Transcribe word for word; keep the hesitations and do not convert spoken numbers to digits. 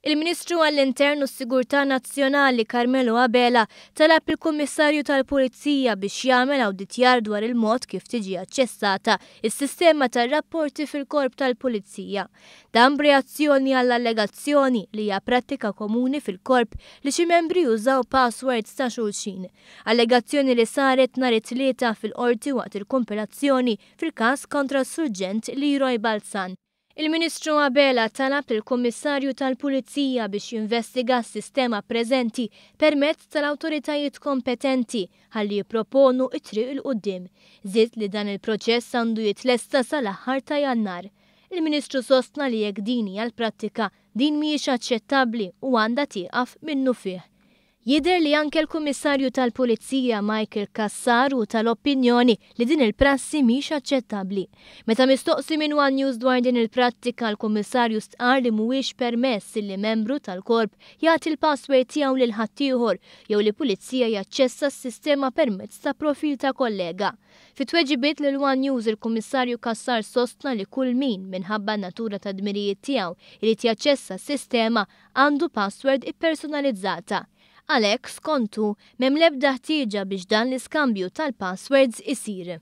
Il-Ministru għall-Intern u s-Sigurtà Nazzjonali Carmelo Abela talab il-Kummissarju tal-Pulizija biex jagħmel awditjar dwar il-mod kif tiġi aċċessata s-sistema tar-rapporti fil-Korp tal-Pulizija. Dan b'reazzjoni għall-allegazzjoni li hija prattika komuni fil-korp li xi membri jużaw passwords ta' xulxin. Allegazzjoni li saret nhar it-Tlieta fil-Qorti waqt il-kumpilazzjoni fil-każ kontra s-Surġent Leroy Balzan. Il-Ministru Abela talab lill-Kummissarju tal-Pulizija biex jinvestiga s-sistema preżenti permezz tal-awtoritajiet kompetenti ħalli jipproponu t-triq 'il quddiem. Żied li dan il-proċess għandu jitlesta sal-aħħar ta' Jannar. Il-Ministru sostna li jekk din hija l-prattika, din mhijiex aċċettabbli u għandha tieqaf minnufih. Jidher li anke l-Kummissarju tal-Pulizija Michael Cassar hu tal-opinjoni li din il-prassi mhix aċċettabbli. Meta mistoqsi minn One News dwar din il-prattika, l-Kummissarju stqarr li mhuwiex permess li membru tal-korp jagħti l-password tiegħu lil ħaddieħor jew li pulizija jaċċessa s-sistema permezz ta' profil ta' kollega. Fi tweġibiet lil One News, il-Kummissarju Cassar sostna li kull min, minħabba n-natura ta' dmirijiet tiegħu, irid jaċċessa s-sistema għandu password ippersonalizzata. Għalhekk, skontu, m'hemm l-ebda ħtieġa biex dan l-iskambju tal-passwords isir.